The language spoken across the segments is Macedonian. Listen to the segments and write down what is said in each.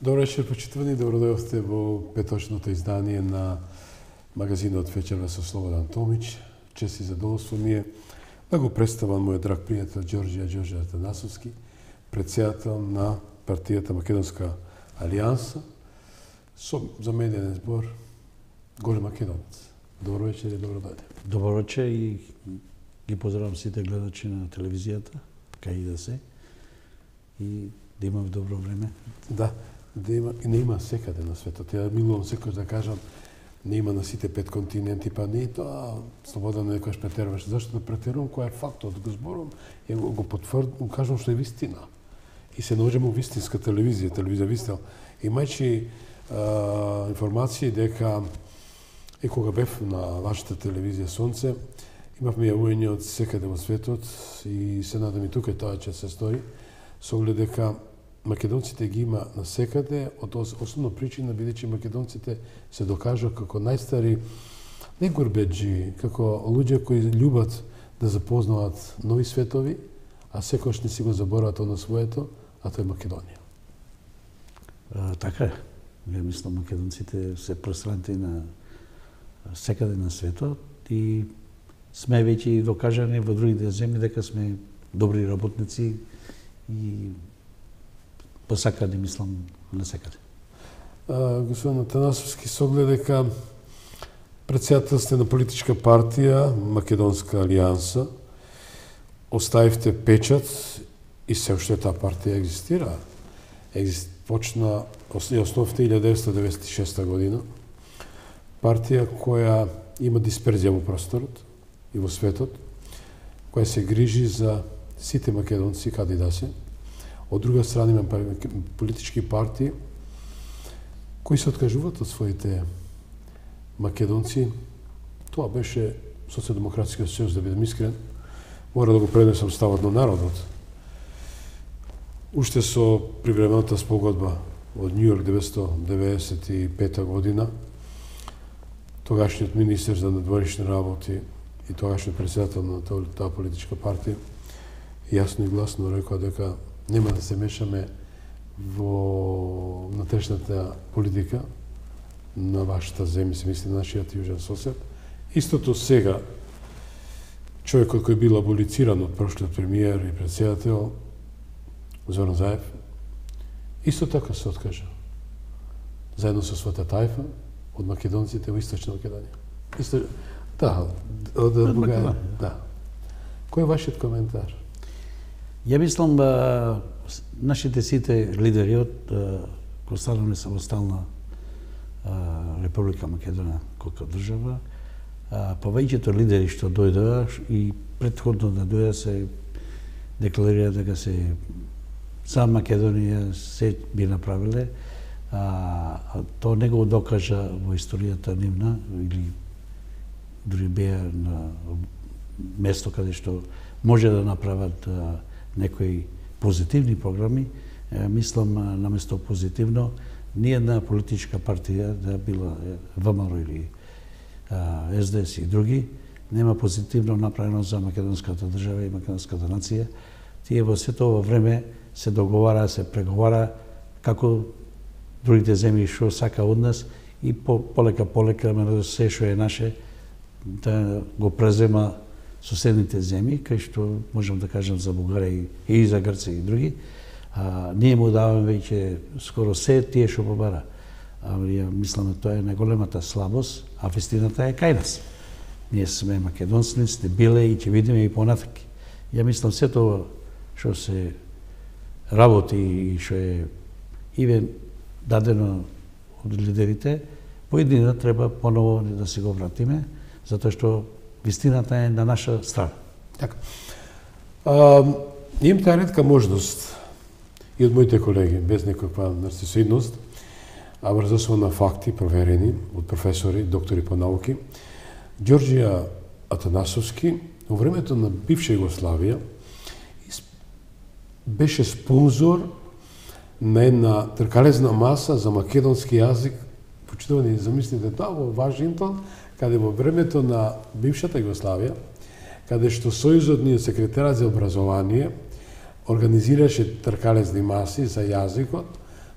Добро вечер, почитувани, добродојавте во петочното издание на магазинот Вечерва со Слободан Томич. Чест и задоволство ми е да го представам мојот драг пријател Ѓорѓе Атанасовски, председател на партијата Македонска алијанса, со заменен збор Горе Македонец. Добро вечер и добро дојде. Добро вечер и ги поздравам сите гледачи на телевизијата, кај и да се, и да имаме добро време. Да, да има, и не има секаде на светот. Ја милувам секој да кажам, не има на сите 5 континенти, па не е тоа слободно некојаш претеруваш. Зашто да претерувам кој е фактот, го зборувам и го потврдам, кажам што е вистина. И се наоѓаме во вистинска телевизија Вистел. Имајќи информации дека кога бев на вашата телевизија Сонце, имавме јавување од секаде во светот и се надам и тука тоа ќе се стори, со оглед дека македонците ги има насекаде, од основна причина бидејќи македонците се докажа како најстари не гурбеджи, како луѓе кои љубат да запознават нови светови, а секојаш не си го заборават на своето, а тоа е Македонија. Така е. Ја мислам македонците се пространти на секаде на светот и сме веќе докажани во другите земји дека сме добри работници и посакани, мислам, на секаде. Господин Атанасовски, со оглед дека председател сте на политичка партија Македонска алијанса, оставивте печат и се уште таа партија екзистира. Почна и основите 1996 година. Партија која има дисперзија во просторот и во светот, која се грижи за сите македонци каде да се. Од друга страна има политички партии кои се откажуваат од своите македонци. Тоа беше Социјалдемократскиот сојуз, да бидам искрен. Мора да го пренесам ставот на народот. Уште со привремената спогодба од Њујорк 1995 година, тогашниот министер за надворешни работи и тогашниот председател на таа политичка партија јасно и гласно рекоа дека нема да се мешаме во внатрешната политика на вашата земја, се мисли нашиот јужен сосед. Истото сега, човекот кој бил аболициран од прошлиот премиер и председател, Зоран Заев, исто така се откажа, заедно со својата тајфа, од македонците во Источна Македонија. Да, од Бугаја. Да. Кој е вашиот коментар? Ја мислам, нашите сите лидери од кој станале самостална Република Македонија како држава, повеќето лидери што дојдоа и претходно да дојдоа се декларира дека се за Македонија се би направиле, тоа не го докажа во историјата нивна или дури беа на место каде што може да направат некои позитивни програми. Мислам, наместо позитивно, ниедна политичка партија, да била ВМРО или СДС и други, нема позитивно направено за македонската држава и македонската нација. Тие во сето ова време се договара, се преговара како другите земји што сака од нас и полека се што е наше да го презема соседните земји, кај што можам да кажам за Бугарија и за Грција и други. Ние му даваме веќе скоро се тие што побара. Ја мислам, тоа е најголемата слабост, а вистината е кај нас. Ние сме македонци, сте биле и ќе видиме и понатаки. Ја мислам, се тоа што се работи и што е ивен дадено од лидерите, поедина треба поново да се го вратиме, затоа што вистината е на наша страна. Така. Имам таа ретка можност и од моите колеги, без некаква нарцисоидност, а врз основа на факти проверени од професори, доктори по науки, Ѓорѓе Атанасовски во времето на бивша Југославија беше спонзор на една тркалезна маса за македонски јазик. Почитувани, замислите тоа во Вашингтон, каде во времето на бившата Југославија, каде што Сојузот ни секретарот за образование организираше тркалезни маси за јазикот,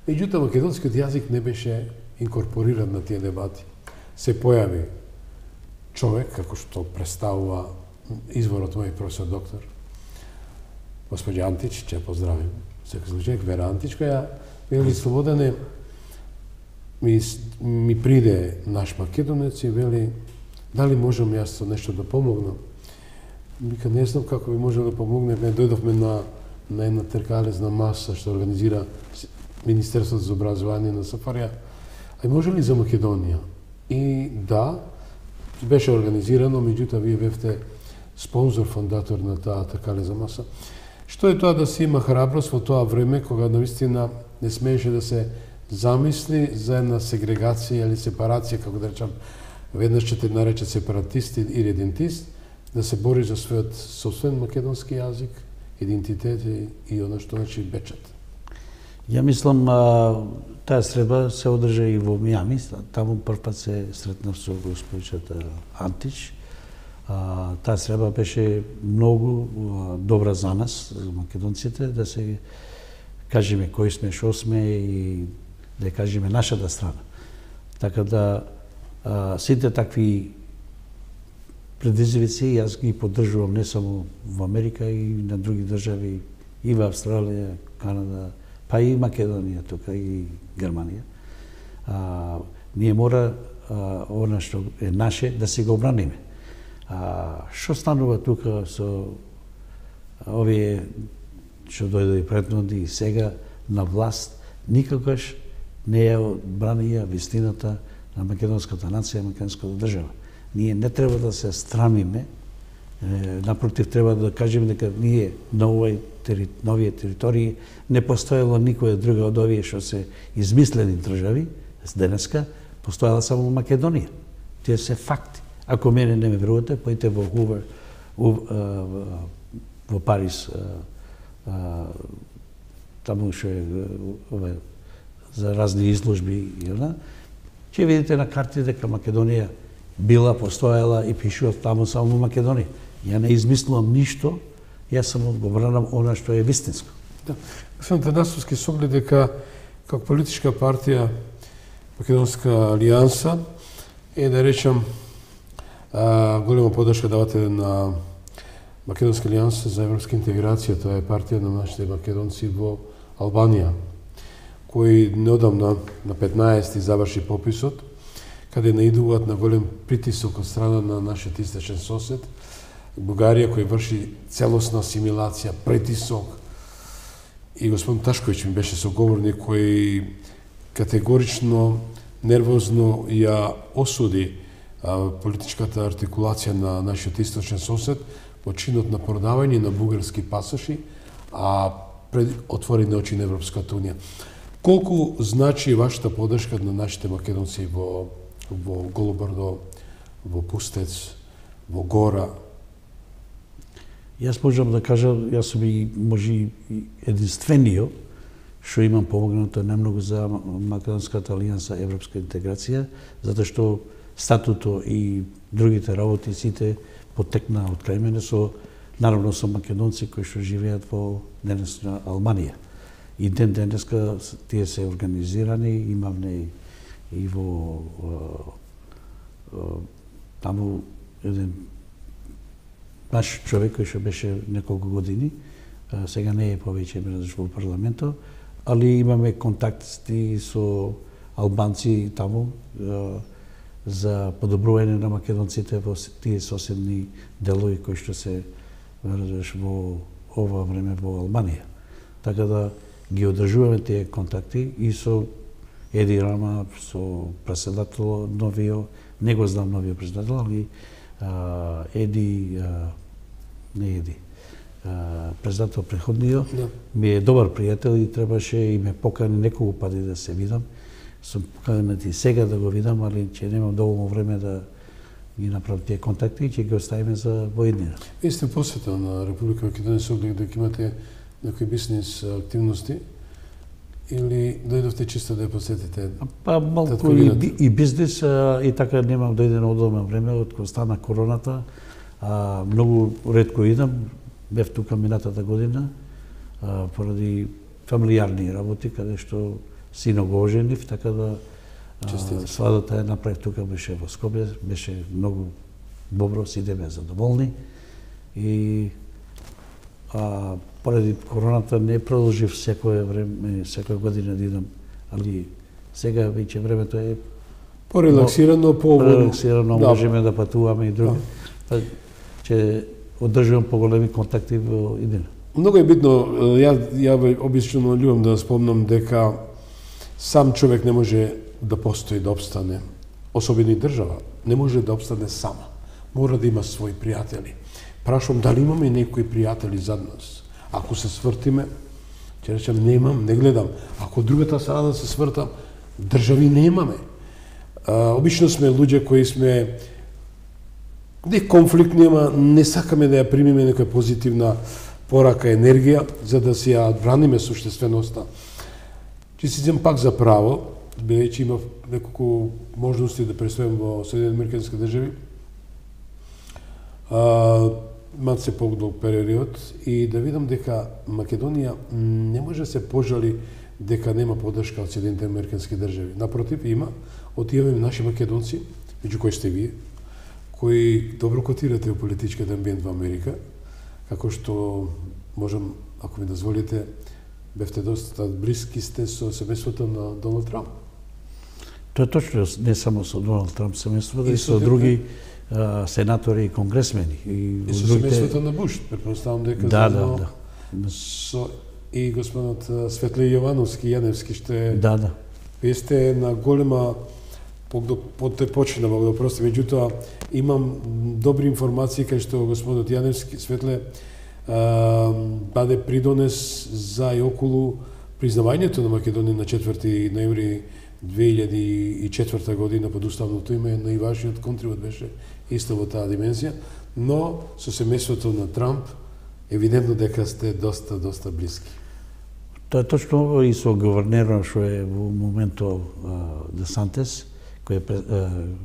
Меѓутоа, македонскиот јазик не беше инкорпориран на тие дебати. Се појави човек, како што представува изворот мој професор доктор, господја Антич, че поздравим, секој случај, Вера Антич, која вели Слободане, ми приде наш македонец и вели, дали можам јас со нешто да помогнам? Вика, не знам како би можел да помогнем, дојдовме на една теркалезна маса што организира Министерството за образование на СФРЈ. А може ли за Македонија? И да, беше организирано, меѓутоа вие бевте спонзор, фондатор на таа теркалезна маса. Што е тоа да се има храброст во тоа време, кога наистина не смееше да се замисли за една сегрегација или сепарација, како да речам, веднаш ќе те наречат сепаратист и редентист, да се бори за својот собствен македонски јазик, идентитет и оно што значи печат. Ја мислам, таа средба се одржа и во Мијами, таму првпат се сретнав со господичата Антич. Таа средба беше многу добра за нас, за македонците, да се кажеме кои сме, шо сме и да кажеме нашата страна. Така да сите такви предизвици јас ги поддржувам не само во Америка и на други држави, и во Австралија, Канада, па и Македонија, тука и Германија. Ние мора она што е наше да се го обраниме. Што станува тука со овие што дојде претходни и сега на власт, никогаш не ја одбранија вистината на македонската нација, македонската држава. Ние не треба да се страмиме, напротив треба да кажеме дека ние на овие територии не постоело никоја друга од овие што се измислени држави денеска, постоела само Македонија. Тие се факти. Ако мене не ме верувате, појте во Хувер, во Париз, таму што е за разни изложби, ќе видите на карти дека Македонија била, постоела и пишува таму само Македонија. Ја не измислувам ништо, јас само го бранам она што е вистинско. Да. Господин Танасовски, с оглед дека како политичка партија Македонска алијанса е да речам голема поддршка давате на Македонска алијанса за европска интеграција, тоа е партија на нашите македонци во Албанија, кои неодамна на 15 заврши пописот, каде наидуваат на голем притисок од страна на нашиот источен сосед, Бугарија, кој врши целосна асимилација, притисок. И господин Ташковиќ ми беше соговорник кој категорично, нервозно ја осуди политичката артикулација на нашиот источен сосед во чинот на продавање на бугарски пасоши, а отворени очи на Европската унија. Колку значи вашата поддршка на нашите македонци во Голобрдо, во Пустец, во Гора? Јас можам да кажам, јас сум и може единствениот што имам помогнато најмногу за Македонската алијанса европска интеграција, затоа што статуто и другите работи сите потекна од крај мене наравно со македонци кои што живеат во денесна Албанија. И денеска тие се организирани, имавме и во таму еден наш човек кој што беше неколку години, сега не е повеќе во парламентот, али имаме контакти со албанци таму за подобрување на македонците во тие соседни делови кои што се во ова време во Албанија. Така да ги одржуваме тие контакти и со Еди Рама, со председател новиот, не го знам новиот председател, али Еди, не Еди, председател преходниот, ми е добар пријател и требаше и ме покани неколку пати да се видам. Сум поканет и сега да го видам, али ќе немам доволно време да ги направам тие контакти и ќе ги оставиме за воеднина. Вие сте посетил на Република Македонија со оглед дека имате некои бизнес активности или дојдовте чисто да ја посетите? Па малку и бизнес и така немам дојдено одолно време од кога стана короната. Многу ретко идам, бев тука минатата година поради фамилијарни работи каде што сино го оженив, така да свадата ја направив тука, беше во Скопје, беше многу добро, сите беа задоволни и поради короната не продолжив секоја година да идам, али сега веќе времето е порелаксирано, порелаксирано, можеме да патуваме и други. Ќе одржувам поголеми контакти во иднина. Многу е битно, ја обично љубам да спомнам дека сам човек не може да постои, да обстане, особено и држава, не може да обстане сама. Мора да има своји пријатели. Прашувам дали имаме некои пријатели зад нас. Ако се свртиме, ќе речем немам, не гледам. Ако другата страна да се свртам, држави немаме. Обично сме луѓе кои сме не конфликт нема, не сакаме да ја примиме некоја позитивна порака, енергија, за да си ја браниме суштественоста. Ќе си земам пак за право, бидејќи имав неколку можности да престојам во Соединените Американски држави, малце подолг период, и да видам дека Македонија не може да се пожали дека нема поддршка од Соединените Американски држави. Напротив, има, од тие наши македонци, меѓу кои сте вие, кои добро котирате во политичкиот амбиент во Америка, како што можам, ако ми дозволите, бевте доста блиски сте со семејството на Доналд Трамп. Тоа е точно, не само со Доналд Трамп семејството, и со други сенатори и конгресмени. И со семејството на Буш, претпоставам дека да. Со и господинот Светле Јовановски, Јаневски, што Да. Вие сте на голема почина, Бог да прости, меѓутоа имам добри информации кај што господинот Јаневски, Светле, баде придонес за и околу признавањето на Македонија на 4 ноември 2004 година под уставното име, но и вашиот контрибут беше исто во таа димензија, но со семејството на Трамп евидентно дека сте доста блиски. Тоа е точно и со гувернерот што е во моментот Десантес, кој е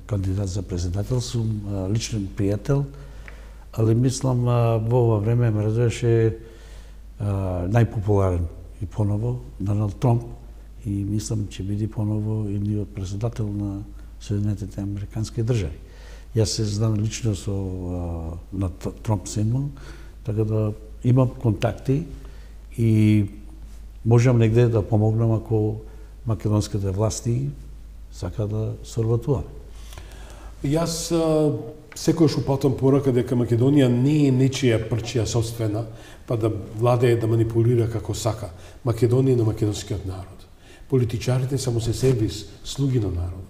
кандидат за председател, сум личен пријател, али мислам во ова време ме радуваше најпопуларен и поново Доналд Трамп, и мислам ќе биде поново и председател на Соединетите Американски држави. Јас се знам лично со на Трамп синмон, така да имам контакти и можам негде да помогнам ако македонските власти сака да соработуваме. Јас секојаш упатам порака дека Македонија не е нечија прчија собствена, па да владее да манипулира како сака. Македонија на македонскиот народ. Политичарите само се сервис, слуги на народот.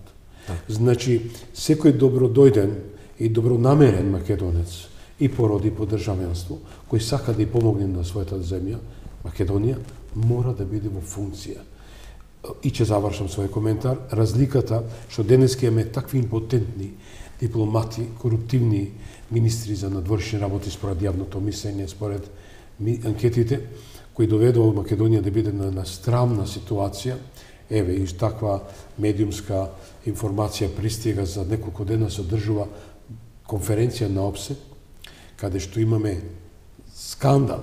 Значи, секој добродојден и добронамерен македонец и породи по државенство, кој сака да ја помогне на својата земја, Македонија, мора да биде во функција. И ќе завршам свој коментар. Разликата што денеска имаме такви импотентни дипломати, коруптивни министри за надворешни работи според јавното мислење, според анкетите, кои доведува Македонија да биде на страмна ситуација. Еве, и таква медиумска информација пристига за неколку дена, се одржува конференција на ОПСЕ, каде што имаме скандал.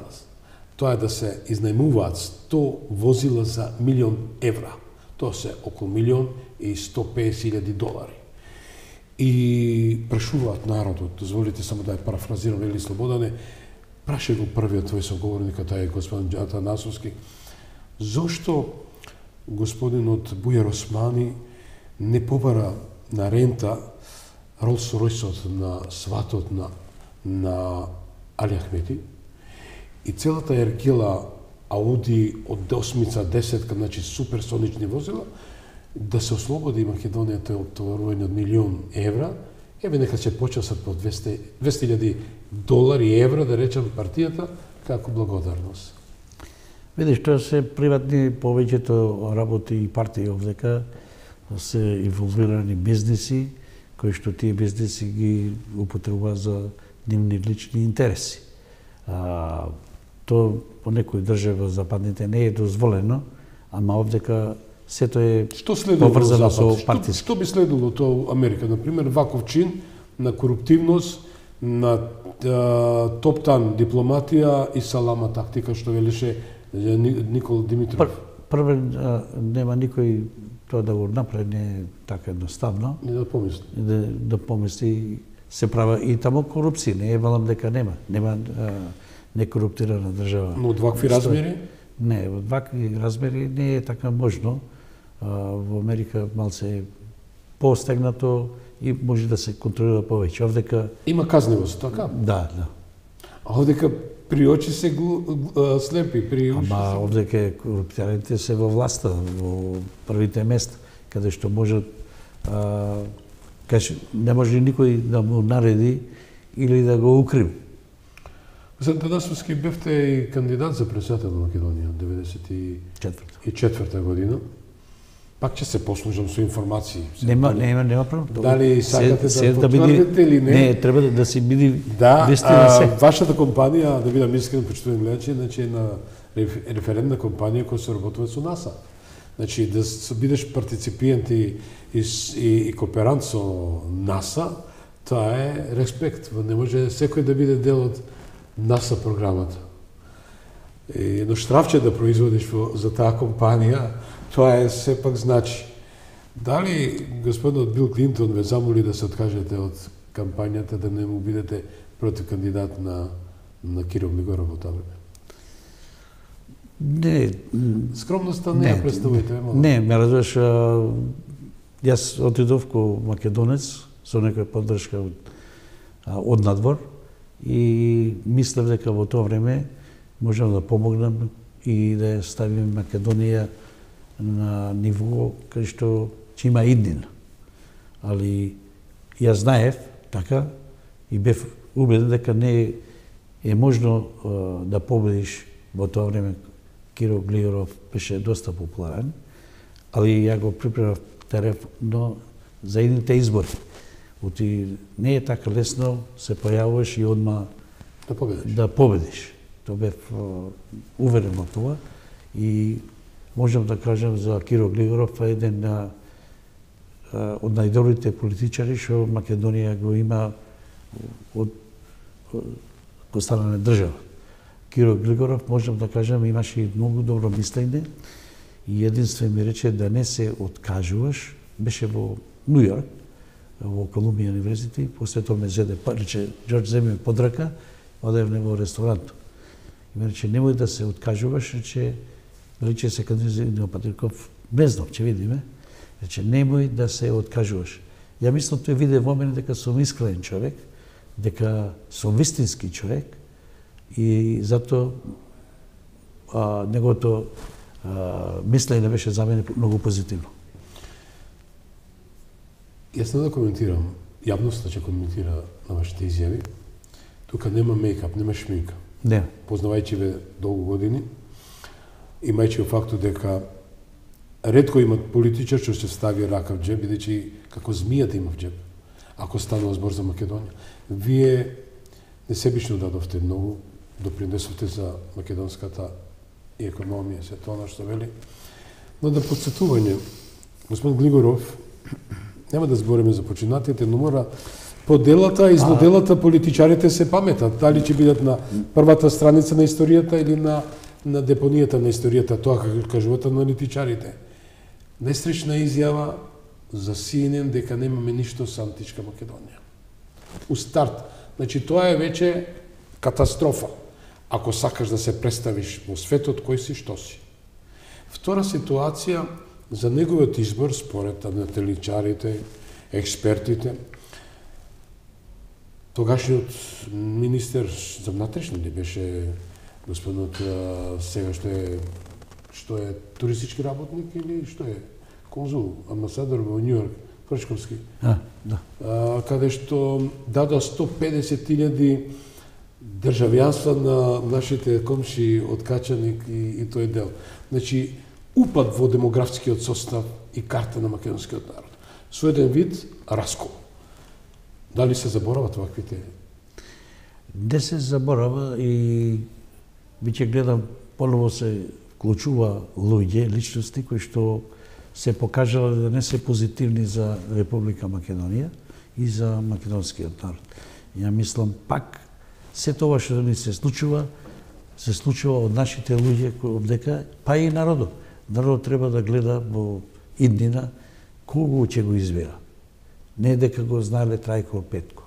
Тоа е да се изнајмуваат 100 возила за €1.000.000. Тоа се околу $1.150.000. И прашуваат народот, дозволите само да ја парафразирам, Вели Слободане, праше го првиот твој соговорник, тај е господин Атанасовски, зошто господинот Бујар Османи не побара на рента Ролс-Ройсот на сватот на Али Ахмети и целата еркила Ауди од 8-10, значи суперсонични возила, да се ослободи Македонија од товарување од €1.000.000, еве нека се почасат по $200.000 и евра, да речем, партијата, како благодарност. Видиш, тоа се приватни повеќето работи и партии овдека, се инволвирани бизнеси, кои што тие бизнеси ги употребуваат за нивни лични интереси. Тоа по некои држави западните не е дозволено, ама овдека сето е поврзано со партиски. Што би следило тоа Америка, например, ваков чин на коруптивност, на топтан дипломатија и салама тактика, што велеше Никола Димитров? првен нема никој тоа да го направи, не е така едноставно. Не да помисли. Да помисли, се права и тамо корупција, не е велам дека нема некоруптирана држава. Но од вакви размери? Не, од вакви размери не е така можно. Во Америка малце е постегнато и може да се контролира повеќе. Овдека Има казнивост, така? Да. А овдека при очи се слепи, при уши Ама овдека корупционерите се во власта, во првите места, каде што можат не може никој да му нареди или да го укриви. Господин Танасовски, бевте и кандидат за председател на Македонија од 1994 година. Пак ќе се послужам со информации. Нема проблем. Дали сакате да потврдите или не? Не, треба да се биде вистина се. Вашата компанија, да бидам искрен, почитувам гледачи, значи е на референтна компанија која се работува со НАСА. Значи да бидеш партиципиент и кооперант со НАСА, тоа е респект. Не може секој да биде дел од НАСА програмата. Едно штрафче да производиш за таа компанија, тоа е сепак значи. Дали господинот Бил Клинтон ве замоли да се откажете од кампањата, да не му бидете против кандидат на Кирил Глигоров во тоа време? Не. Скромноста не ја представувате. Не, ме разбираш, јас отидов ко македонец со некоја поддршка од надвор и мислев дека во тоа време можам да помогнам и да ја ставим Македонија на ниво кај што ќе има иднина. Али ја знаев така и бев убеден дека не е можно да победиш во тоа време. Кирил Глигоров беше доста популарен, али ја го припремав терено за едните избори. Не е така лесно, се појавуваш и одма да победиш. Тоа бев уверен во тоа и можам да кажам за Кирил Глигоров е еден од најдобрите политичари што Македонија го има од останале држава. Кирил Глигоров, можам да кажам, имаше и многу добро мислење и единствено ми рече да не се откажуваш. Беше во Нью Йорк, во Колумбија универзитет, после тоа ме зеде, рече, Джордж, земи ме под рака, одевме во ресторант. И ме рече, немој да се откажуваш, рече се кандидат Патриков, не знам, ќе видиме. Рече, немој да се откажуваш. Ја мислам, тој виде во мене дека сум искрен човек, дека сум вистински човек, и затоа неговото мислење беше за мене многу позитивно. Јас не да коментирам, јавноста ќе коментира на вашите изјави. Тука нема мејкап, нема шминка. Не. Познавајќи ве долго години, имајќи фактот дека ретко имат политичар што ќе стави рака в џеб, бидејќи како змијата има в џеб, ако станува збор за Македонија. Вие несебично дадовте многу, допринесовте за македонската и економија, се тоа што вели. Но да подсетување, господин Глигоров, нема да збориме за починатите, но мора по делата, измо делата политичарите се паметат. Дали ќе бидат на првата страница на историјата или на депонијата на историјата, тоа како кажуваат аналитичарите. Нестречна изјава за CNN дека немаме ништо со античка Македонија. У старт. Значи, тоа е веќе катастрофа. Ако сакаш да се представиш во светот, кој си, што си. Втора ситуација, за неговиот избор, според аналитичарите, експертите, тогашниот министер за внатрешни ли беше господинот сега што е туристички работник или што е конзул, амбасадор во Нью Йорк, Пршковски. Да. Каде што дадоа 150.000 државјанства на нашите комши од Качаник и тој дел. Значи, упад во демографскиот состав и карта на македонскиот народ. Со еден вид раскол. Дали се заборават ваквите? Не се заборава и веќе гледам, поново се вклучува луѓе, личности кои што се покажале да не се позитивни за Република Македонија и за македонскиот народ. Ја мислам пак се тоа што ни се случува од нашите луѓе овдека, па и народот. Народот треба да гледа во иднина кого ќе го избира. Не дека го знаеле Трајко Петко.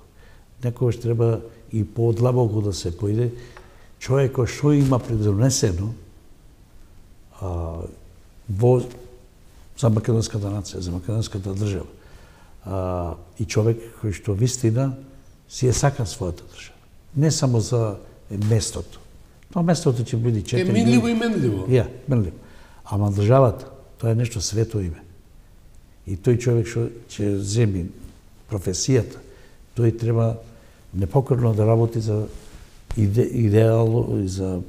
Некогаш треба и подлабоко да се поиде човекот што има предонесено за македонската нација, за македонската држава. И човек кој што вистина си е сака својата држава. Не само за местото. Тоа местото ќе биде 4 години. Минливо и менливо. Ја, менливо. Ама државата, тоа е нешто свето име. И тој човек што ќе земи професијата, тој треба непокорно да работи за идеално и за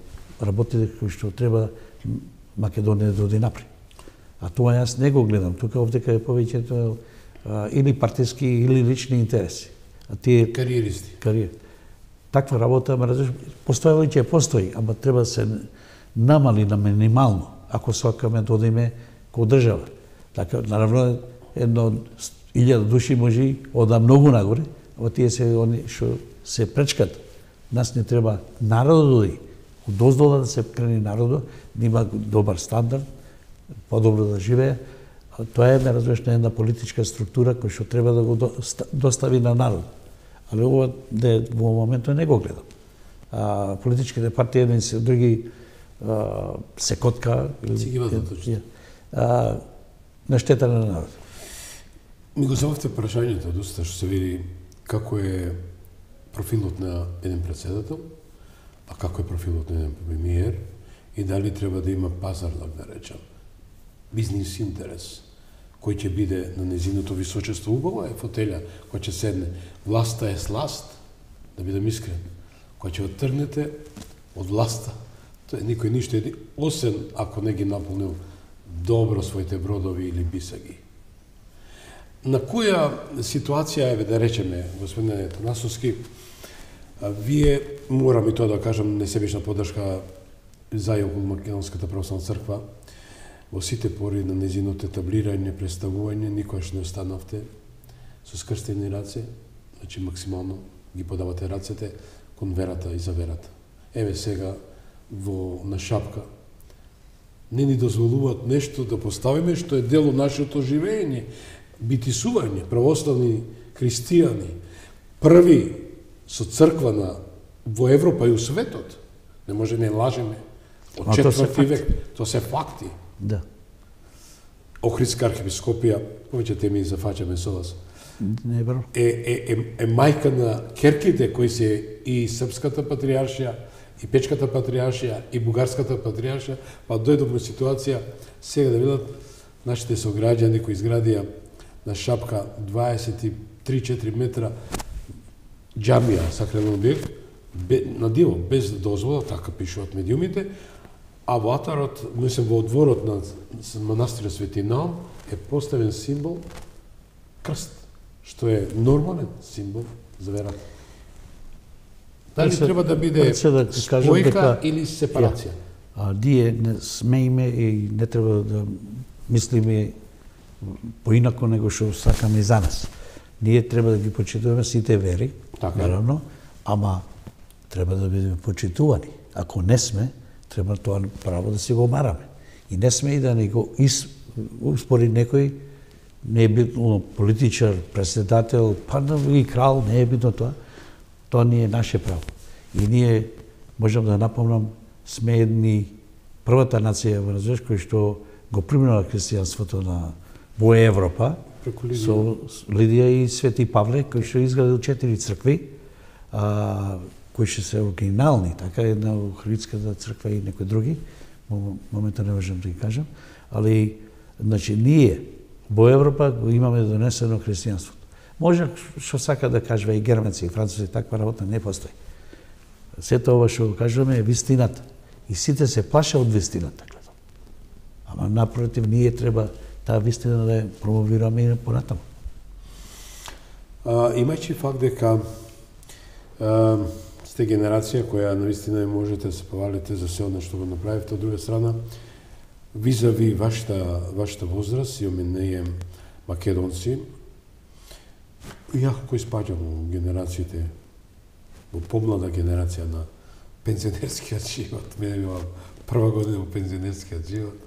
работите кои што треба Македонија да оди напред. А тоа јас не го гледам. Тука овдека е повеќето или партиски или лични интереси. А тие кариеристи. Таква работа, постојала и ќе постои, ама треба да се намали на минимално, ако сакаме да одиме ко држава. Така, наравно, 1000 души може ода многу нагоре, ама тие се они што се пречкат. Нас не треба народот да оди. Одоздола да се крени народот, да има добар стандард, подобро да живее. Тоа е, ме разбираш, една политичка структура која што треба да го достави на народ. Али ова во моментот не го гледам. Политичките партии едни се други се котка. Си ги вадат на штета на народ. Ми го зававте прашањето доста што се види како е профилот на еден председател, а како е профилот на еден премиер и дали треба да има пазар, да речем, бизнис интерес, кој ќе биде на незиното височество. Убава е фотеља која ќе седне. Власта е сласт, да бидем искрен. Која ќе оттргнете од власта, тоа е никој ништо еди, осен ако не ги наполнил добро своите бродови или бисаги. На која ситуација, да речеме, господине Танасовски, вие, морам и тоа да кажам, несебична поддршка за и околу Македонската православна црква, во сите пори на незиното етаблирање, представување, никогаш не останавте со скрстени раце, значи максимално ги подавате рацете кон верата и за верата. Еве сега на шапка не ни дозволуваат нешто да поставиме што е дел од нашето живење, битисување, православни христијани, први со црква во Европа и у светот. Не може не лажеме. Од 4 век, тоа се факти. Да. Охридска архиепископија, повеќе теми зафаќаме со вас. Не бро. Е мајка на керките кои се и Српската патријаршија, и Печката патријаршија, и Бугарската патријаршија, па дојдовме ситуација сега да видат нашите сограѓани кои изградија на шапка 23-4 метра џамија, сакрален објект, на диво, без дозвола, така пишуваат медиумите, а во атарот, мислам во одворот на манастирот Свети Наум е поставен символ крст, што е нормален символ за верата. Дали треба да биде спојка или сепарација? Ние не смееме и не треба да мислиме поинако него што сакаме и за нас. Ние треба да ги почитуваме сите вери, наравно, ама треба да бидеме почитувани. Ако не сме, треба тоа право да си го мараме. И не сме и да ни го успори некој, не е битно политичар, председател, па и крал, не е битно тоа. Тоа не е наше право. И ние, можам да напомнам, сме едни првата нација во развој кој што го примила христијанството во Европа, со Лидија и Свети Павле, кој што изградил 4 цркви, кои што се оригинални, така една Охридската црква и некои други, моментот не можам да ги кажам, али, значи, ние во Европа го имаме донесено христијанството. Може што сака да кажува и германци, и французи, таква работа не постои. Сето ова што го кажуваме е вистината. И сите се плаша од вистината, гледам. Ама напротив, ние треба таа вистина да ја промовираме и понатаму. Имајќи факт дека сте генерација која навистина можете да се повалите за се одно што го направивте, од друга страна, визави вашата возраст, имаме ние македонци, Јако кој спаѓам во генерациите, во помлада генерација на пензионерскиот живот, мене била прва година во пензионерскиот живот,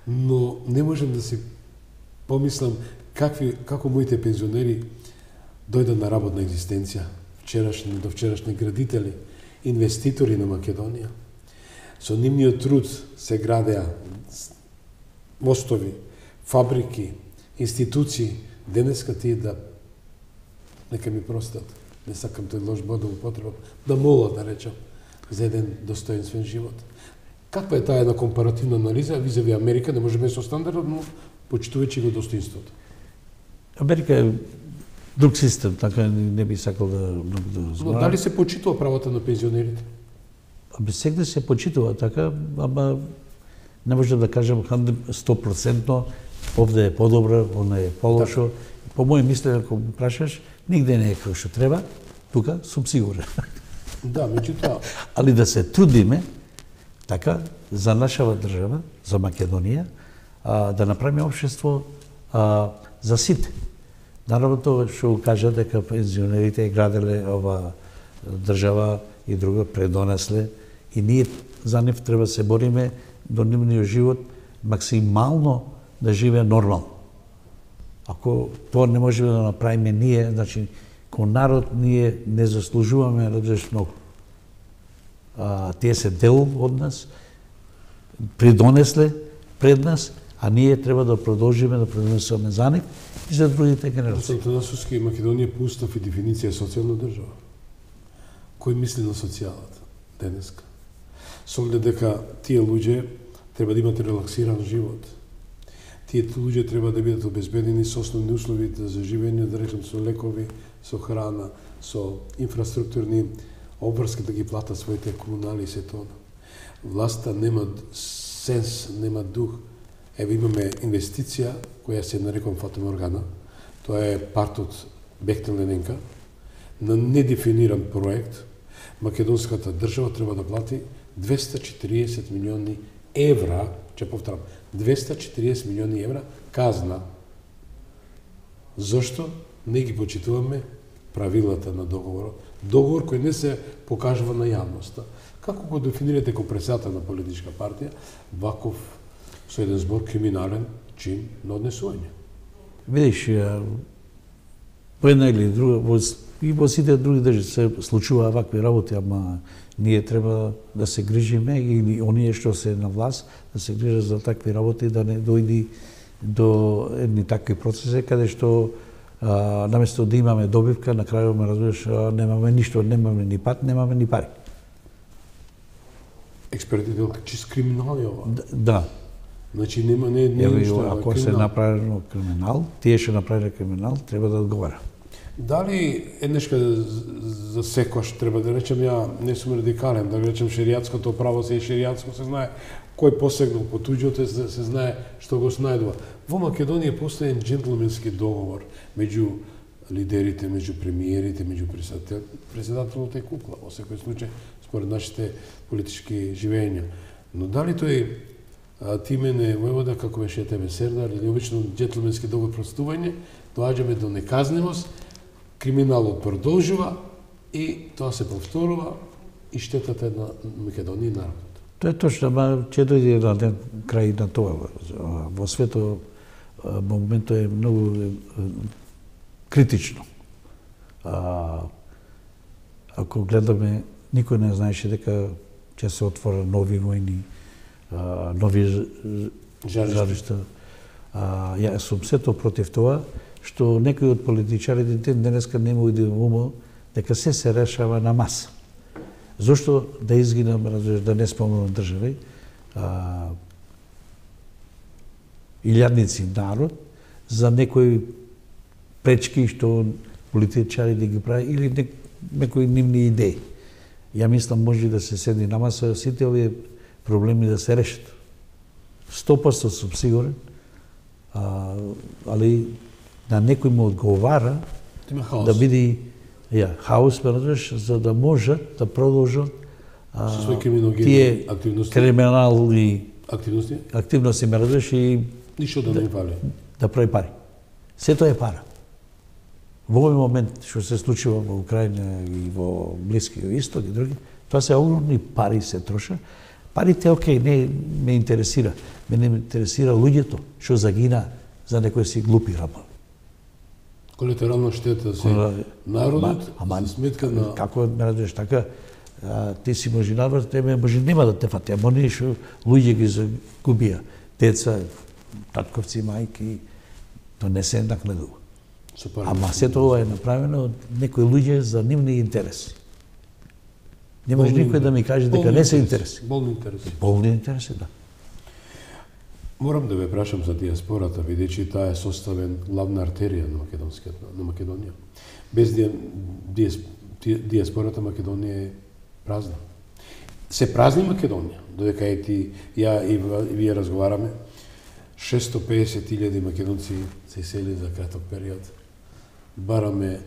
Но не можам да си помислам како моите пензионери дојдат на работна екзистенција, до вчерашни градители, инвеститори на Македонија. Со нивниот труд се градеа мостови, фабрики, институции. Денеска тие нека ми простат, не сакам тој лош бод да употребам, да молат, да речам, за еден достоинствен живот. Каква е таа една компаративна анализа визави Америка, не можеме со стандардот, но почитувајќи го достоинството? Америка е друг систем, така не би сакал да Но дали се почитува правото на пензионерите? Сега се почитува така, ама не можам да кажам 100%, овде е подобро, оно е полошо. По моје мислење, ако ме прашаш, нигде не е како што треба, тука сум сигурен. Да, меѓутоа. Али да се трудиме, така, за нашава држава, за Македонија, да направиме општество за сите. Наравно тоа што кажа дека пензионерите граделе ова држава и друга предонесле и ние за нив треба се бориме до нивниот живот максимално да живее нормално. Ако тоа не можеме да направиме ние, значи ко народ ние не заслужуваме разбираш многу. Тие се дел од нас, придонесле пред нас, а ние треба да продолжиме да придонесуваме за нив и за другите генерации. Атанасовски Македонија по устав и дефиниција е социјална држава. Кој мисли на социјалата денеска? Со оглед дека тие луѓе треба да имат релаксиран живот. Тие луѓе треба да бидат обезбедени со основни услови за живење, да речем со лекови, со храна, со инфраструктурни обврски да ги платат своите комунали и се тоа. Власта нема сенс, нема дух. Еве имаме инвестиција која се нарекува фатоморгана. Тоа е парт од Бехтел-Лененка на недефиниран проект. Македонската држава треба да плати 240 милиони евра, ќе повторам, 240 милиони евра казна. Зошто не ги почитуваме правилата на договорот? Договор кој не се покажува на јавноста. Како го дефинирате како председател на политичка партија, ваков со еден збор криминален чин на однесување? Видиш, по една или друга, и во сите други држави се случува вакви работи, ама ние треба да се грижиме и оние што се на власт да се грижат за такви работи, да не дојди до едни такви процеси каде што наместо да имаме добивка, на крајот ме разбираш, немаме ништо, немаме ни пат, немаме ни пари. Експертите чист криминал е ова. Да. Значи нема не ништо. Ако се направено криминал, тие што направиле криминал, треба да одговара. Дали еднешка за секојаш треба да речем, ја не сум радикален, да речем шеријатското право се шеријатско, се знае кој посегнал по туѓото, се знае што го снајдува. Во Македонија постои еден џентлменски договор меѓу лидерите, меѓу премиерите, меѓу председателот е кукла, во секој случај според нашите политички живења. Но дали тој Тимене војвода, како беше тебе Сердар, или обично џентлменски договор простување, доаѓаме до неказнивост, криминалот продолжува и тоа се повторува и штетата на Македонија и народот. Тоа е точно, ама ќе дојде на ден крај на тоа. Во светот моментот е многу критично. Ако гледаме, никој не знаеше дека ќе се отворат нови војни, нови жаришта. Јас сум сето против тоа, што некои од политичарите денеска не му иде умо дека се решава на маса. Зошто да изгинам, да не спомнам држави, илјадници народ за некои пречки што политичари да ги прави или некои нивни идеи. Ја мислам може да се седи на маса сите овие проблеми да се решат. 100% сум сигурен, али на некој му одговара да биде хаос, за да можат да продолжат тие криминални активности, ме разбираш, и ништо да не фали. Да прави пари. Сето е пара. Во овој момент што се случува во Украина и во Блискиот Исток и други, тоа се огромни пари се троша, Парите, окей, не ме интересира. Мене ме интересира луѓето, што загина за некои си глупи работи. Колатерална штета за народот, за сметка на... Како ме разбираш така, ти си можинар, тебе може нема да те фати, ама не што луѓе ги загубија. Деца, татковци, мајки, то не се накнедува. Ама сето ова е направено од некои луѓе за нивни интереси. Не може никој да ми каже дека не се интереси. Болни интереси. Болни интереси, да. Морам да ве прашам за диаспората, бидејќи таа е составен главна артерија на Македонија. Без диаспората Македонија е празна. Се празни Македонија, додека и ти, ја и вие разговараме, 650.000 македонци се исели за краток период. Бараме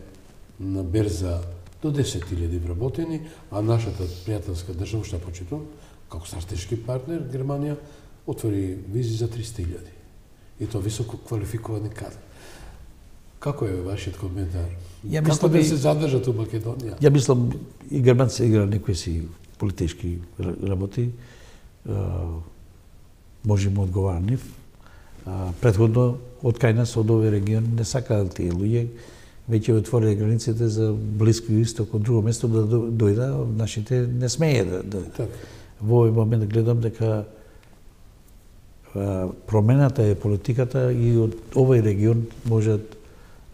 на берза до 10.000 вработени, а нашата пријателска држава, што почитувам, како стратешки партнер, Германија, отвори визи за 300.000. И тоа високо квалификовани кадри. Како е вашиот коментар? Како да се задржат у Македонија? Ја мислам, и германци игра некои си политички работи, може му одговара нив. Претходно, од кај нас, од овој регион, не сакаат тие луѓе, веќе отвориле границите за Блиско исток, од друго место да дојда, нашите не смее да дојда. Во овој момент гледам дека промената е политиката и од овој регион можат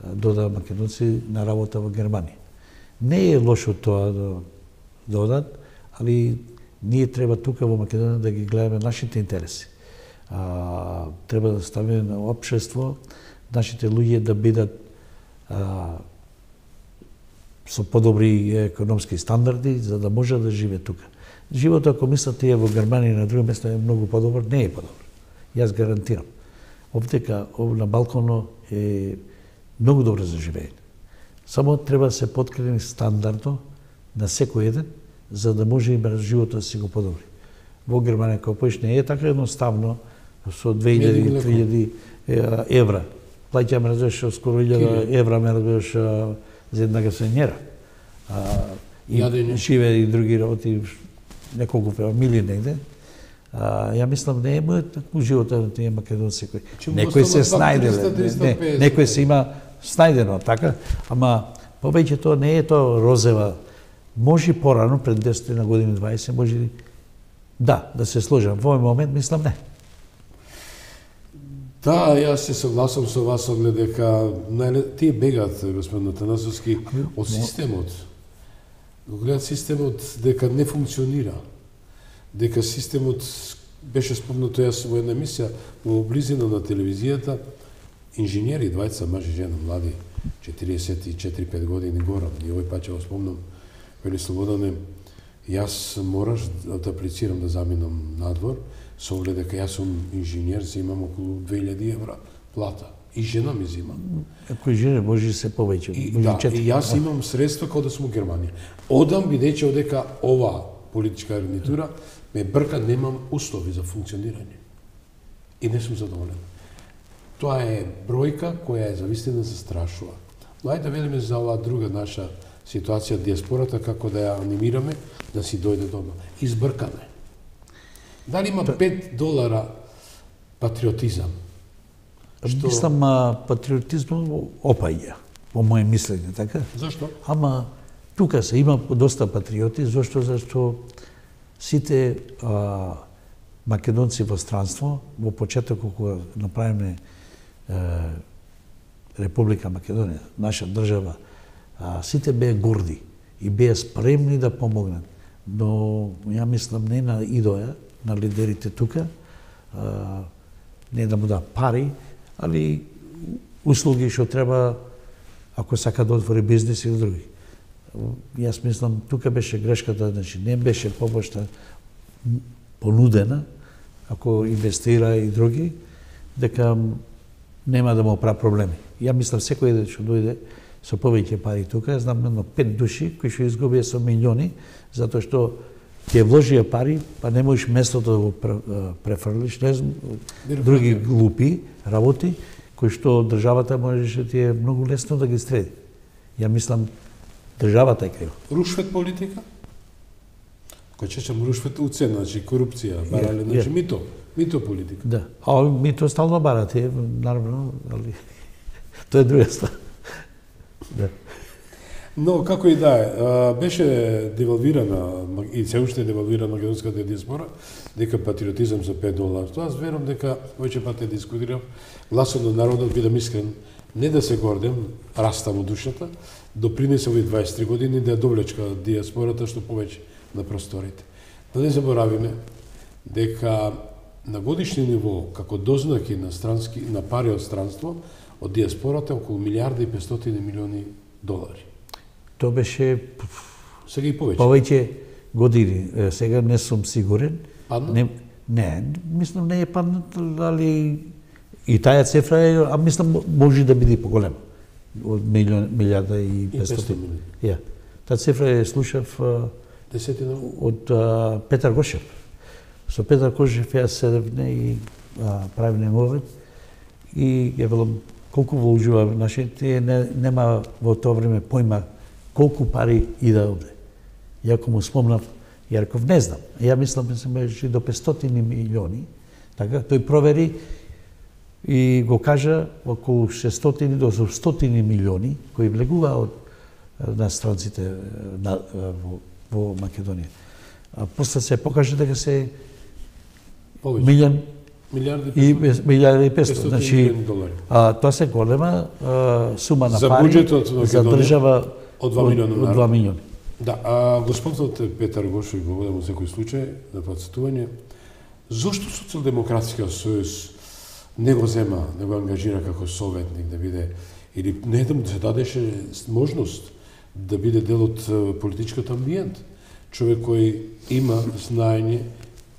дода македонци на работа во Германија. Не е лошо тоа да одат, али ние треба тука во Македонија да ги гледаме нашите интереси. Треба да ставиме на општество, нашите луѓе да бидат со подобри економски стандарди, за да може да живе тука. Животот, ако мислите, е во Германија и на друго место е многу подобар, не е подобар. Јас гарантирам. Овдека, на Балкано е многу добро за живење. Само треба да се подкрени стандардно на секој еден, за да може и животот да си го подобри. Во Германија, како поиш, не е така едноставно, со 2000-3000 евра. Плаќаме, разбираш, скоро 1000 евра, ме разбираш, за една гасенјера. И живе и други работи, неколку фамилии негде. Ја мислам, не е такво живота на тие македонци кои. Некој се снајделе, некој се има снајдено, така, ама повеќето не е тоа розева. Може порано, пред 10 на години, 20, може да се сложам. Во овој момент, мислам, не. Да, јас се согласам со вас, оглед дека тие бегат, господин Атанасовски, од системот. Го гледат системот дека не функционира. Дека системот беше спомнато јас во една емисија во близина на телевизијата, инженери, двајца, маж и жена, млади, 44-5 години гора, и овој пат ќе го спомнам, вели Слободане, јас мораш да аплицирам да заминам надвор, со оглед дека јас сум инженер, зимам околу 2000 евра плата. И жена ми зима. Ако жена може да се повеќе. И јас имам средства како да сум во Германија. Одам, бидејќи одека ова политичка гарнитура ме брка, немам услови за функционирање. И не сум задоволен. Тоа е бројка која е завистина застрашува. Но ајде да велиме за оваа друга наша ситуација, диаспората, како да ја анимираме да си дојде дома. Избркаме. Дали има $5 патриотизам? Мислам, патриотизмот опаѓа, по моје мислење, така? Зашто? Ама тука се има доста патриоти, зашто сите македонци во странство, во почетокот кога направиме Република Македонија, наша држава, сите беа горди и беа спремни да помогнат. Но ја мислам не на идоја, на лидерите тука, не да му да пари, али услуги што треба ако сака да отвори бизнес или други. Јас мислам, тука беше грешката, значи не беше помошта понудена, ако инвестира и други, дека нема да му прави проблеми. Ја мислам, секој еден што дојде со повеќе пари тука, знам едно 5 души кои што изгубија со милиони, затоа што ќе вложија пари, па не можеш местото да го префрлиш, не знам, други глупи работи, кои што државата можеше ти е многу лесно да ги среди. Ја мислам, државата е крива. Рушвет политика? Кој чешам рушват уцена, значи корупција, барале, значи мито политика. Да. А мито стално барат, наравно, али тоа е друга стvar. Да. Но како и да е, беше девалвирана и се уште девалвирана македонската диаспора, дека патриотизам за $5. Тоа аз верувам дека веќе пат дискутирав, гласот на народот, бидам искрен, не да се гордем, раста му душата, допринесе овие 23 години да ја довлечка диаспората што повеќе на просторите. Да не заборавиме дека на годишни ниво, како дознаки на пари од странство, од диаспората околу $1,500,000,000. Тоа беше Сега и повеќе. повеќе години. Сега не сум сигурен. Падна? Не, мислам не е паднат, али и таа цифра е, а мислам може да биде поголема. Од 1,500,000. Ја. Таа цифра е слушав од Петар Гошев. Со Петар Гошев ја седевне и правиме мовет и ја велам колку вложува нашите нема во тоа време појма колку пари иде овде. Ја кога му спомнав, ја реков не знам. Ја мислам се беше до 500,000,000. Така тој провери и го кажа околу 600 до 100,000,000 кои влегува од на странците во Македонија. А после се покаже дека се $1,500,000. Значи, тоа се голема сума на за пари буџетот на за држава од 2 милиона од 2 милиони. Да, го спомнавте Петар Гошев, го водам во секој случај на подсетување. Зошто Социјалдемократскиот сојуз не го зема, не го ангажира како советник да биде, или не да му се дадеше можност да биде дел од политичкиот амбиент? Човек кој има знаење,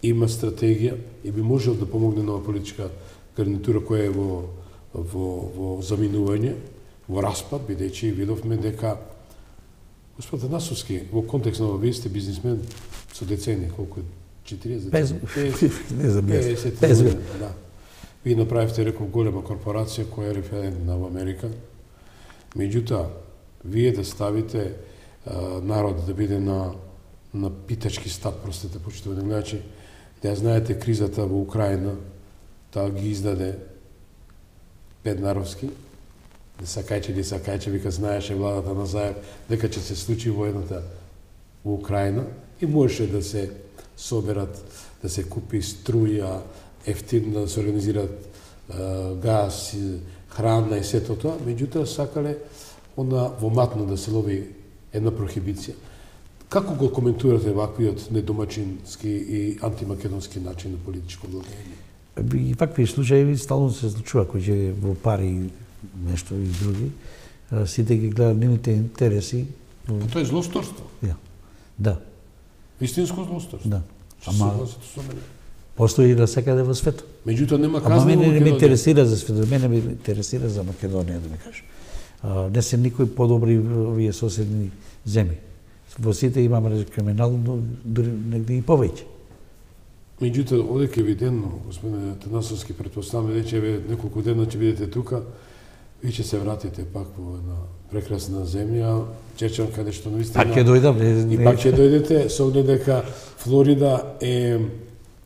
има стратегија и би можел да помогне на политичка гарнитура која е во заминување, во распад, бидејќи видовме дека Господ Атанасовски, во контекст на вие сте бизнисмен со децени, колку 40? 50, да. Вие направивте, реков, голема корпорација која е референтна во Америка. Меѓутоа, вие да ставите народ да биде на питачки стат, простете, почитувани гледачи, да ја знаете кризата во Украина, таа ги издаде Педнаровски, Сакајче, вика знаеше владата на Заев дека ќе се случи војната во Украина и можеше да се соберат, да се купи струја, ефтино да се организират газ, храна и сето тоа, меѓутоа сакале во матно да се лови една прохибиција. Како го коментирате ваквиот недомачински и антимакедонски начин на политичко владење? И вакви случаи стално се случува, кој е во пари нешто и други. Сите ги гледат нивните интереси. Тоа е злосторство. Да. Вистинско злосторство. Да. Ама постои и насекаде во светот. Меѓутоа нема казна во мене не ме интересира за светот, мене ме интересира за Македонија, да ме кажеш. Не се никој подобри овие соседни земји. Во сите имаме криминал, но дури негде и повеќе. Меѓутоа, одека евидентно, господине Атанасовски, претпоставаме дека неколку дена ќе бидете тука, ви ќе се вратите пак во една прекрасна земја, Чечан, каде што наистина... Пак ќе дојдам. И пак ќе дојдете, со оглед дека Флорида е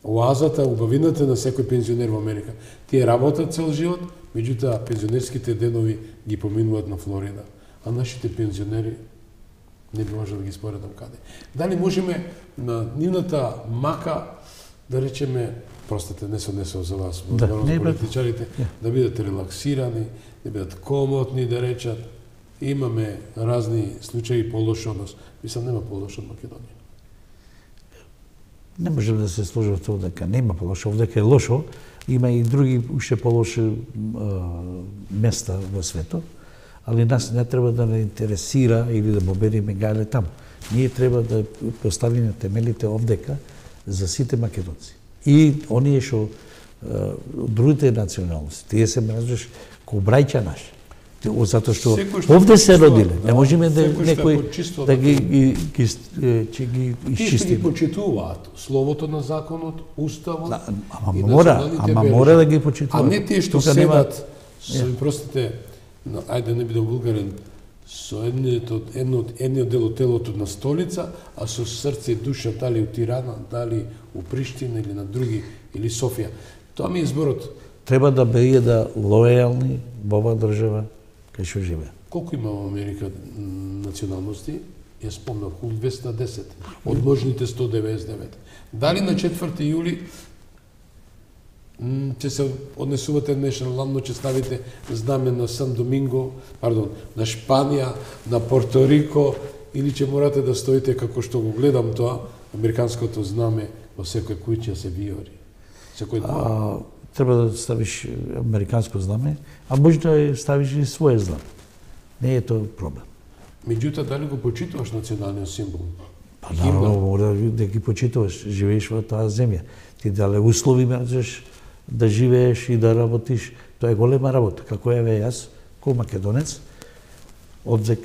оазата, убавината на секој пензионер во Америка. Тие работат цел живот, меѓутоа пензионерските денови ги поминуваат на Флорида, а нашите пензионери не би можел да ги споредам каде. Дали можеме на нивната мака да речеме, простете, не се за вас, за политичарите, да бидат релаксирани, да бидат комотни, да речат, имаме разни случаи по-лошо од нас. Мислам, нема по-лошо од Македонија. Не можем да се сложи во тоа дека нема по-лошо, дека е лошо, има и други уште по-лоши места во светот, али нас не треба да не интересира или да победиме гајле таму. Ние треба да поставиме темелите овдека за сите македонци. И оние што од другите националности, тие се мразиш ко брајќа наши. Затоа што овде се родиле, не можеме да некој да ги исчистиме. Тие што ги почитуваат словото на законот, уставот. Ама мора да ги почитуваат. А не тие што седат, простите, ајде не бидам вулгарен, со едниот дел од телото на столица, а со срце и душа дали у Тирана, дали у Приштина или на други, или Софија. Тоа ми е зборот. Треба да биде лојални во оваа држава кај што живее. Колку има во Америка националности? Ја спомнав, 210, од можните 199. Дали на 4 јули ќе се однесувате нешнално, ќе ставите знаме на Сан Доминго, на Шпанија, на Порто Рико, или ќе морате да стоите како што го гледам тоа, американското знаме во секој куќа се виори. Секој ден. Треба да ставиш американско знаме, а може да ставиш и своје знаме. Не е тоа проблем. Меѓутоа, дали го почитуваш националниот символ? Па наравно, мора да ги почитуваш, живееш во таа земја. Ти дале услови можеш да живееш и да работиш, тоа е голема работа. Како еве јас, кој македонец, одев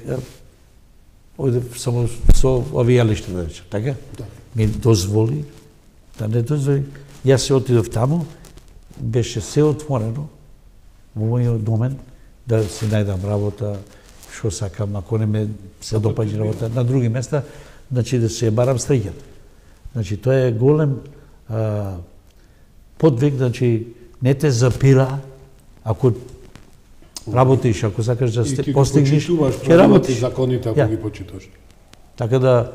само со авијалиште, да речем, така? Да. Ми дозволи, да не дозволи. Јас се отидов таму, беше се отворено во мојот домен, да си најдам работа, што сакам, ако не ме се допаѓа работа на други места, значи да се барам стриќан. Значи тоа е голем подвиг, значи не те запира, ако работиш, ако сакаш да постигнеш, ќе работиш. Законите ако ги почитуваш. Така да,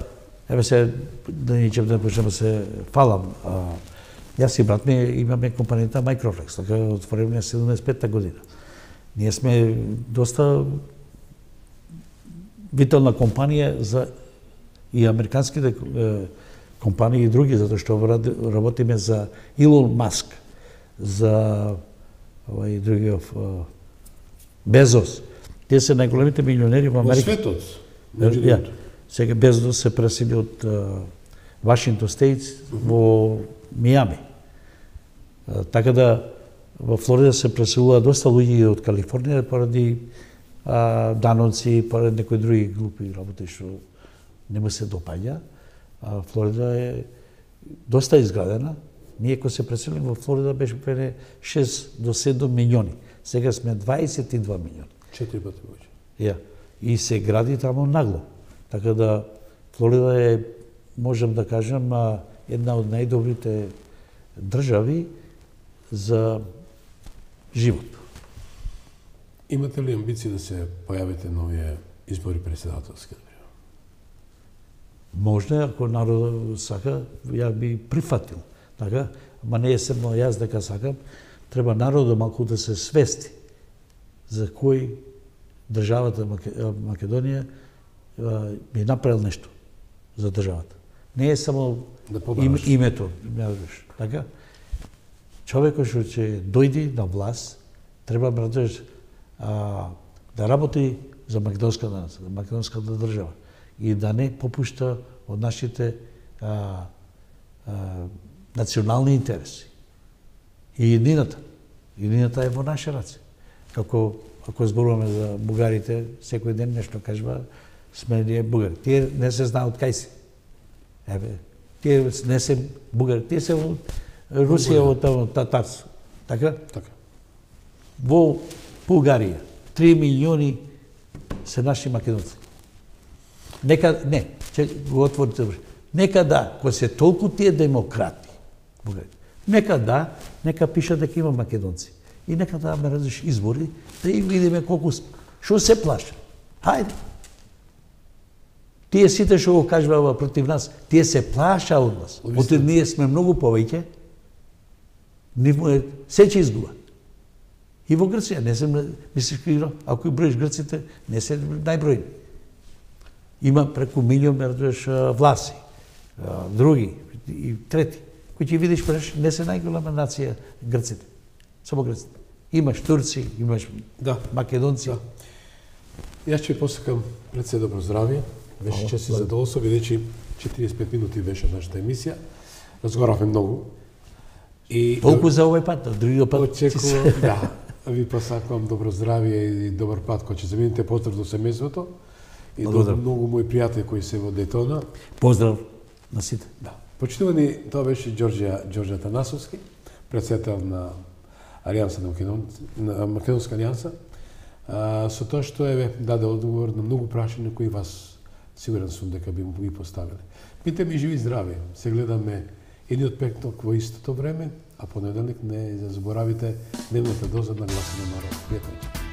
еве се, да ничем да почнем да се фалам. Јас и брат ми имаме компанијата Microflex, така отворена 75-та година. Ние сме доста витална компанија за и американските компании и други, затоа што работиме за Илон Маск, за другиот Безос. Тие се најголемите милионери во Америка. Во светот. Сега Безос се пресели од Вашингтон Стейтс во Мијами. Така да во Флорида се преселува доста луѓе од Калифорнија поради даноци, поради некои други глупи работи што не му се допаѓа. Флорида е доста изградена. Ние кога се преселим во Флорида беше 6 до 7 милиони. Сега сме 22 милиони. 4 пати повеќе. Ја. И се гради таму нагло. Така да Флорида е, можам да кажам, една од најдобрите држави за живот. Имате ли амбиции да се појавите на овие избори председателски? Можно, ако народот сака, ја би прифатил. Така, ама не е само јас дека сакам, треба народот малку да се свести за кој државата Македонија би направил нешто за државата. Не е само името, така? Човекот што ќе дојде на власт, треба да работи за македонската држава и да не попушта од нашите национални интереси. И едината е во наши раце. Ако зборуваме за бугарите, секој ден нешто кажува, сме ние бугари. Тие не се знаат кај си. Тие не се бугари, тие се во Русија, од татарство. Така? Така. Во Бугарија 3 милиони се наши македонци. Нека го отворите. Нека да, кога се толку тие демократи, нека пиша дека има македонци. И нека да ме разиш избори, да и видиме колку што се плаша. Хајде. Тие сите што го кажува против нас, тие се плаша од нас. Оти ние сме многу повеќе. Се ќе изгуба. И во Грција, не се мислиш, ако броиш грците, не се најбројни. Има преку милион власи, други и трети, кои ќе видиш преш, не се најголема нација грците. Само грците. Имаш турци, имаш македонци. Јас ќе посакам пред се добро здравје. Беше чест и задоволство, бидејќи 45 минути беше нашата емисија. Разговаравме многу. Толку за овој пат, другиот пат. Очекувам, ви посакувам добро здравје и добар пат кој ќе замините. Поздрав до семејството и до многу мои пријатели кои се во Дејтона. Поздрав на сите. Да. Почитувани, тоа беше Ѓорѓе Атанасовски, председател на Алијанса на Македонска алијанса. Со тоа што даде одговор на многу прашања кои вас сигурен сум дека би му ги поставиле. Бите ми живи и здрави. Се гледаме едни од петок во истото време, а понеделник не заборавите дневната доза на Гласот на народ. Пријатно.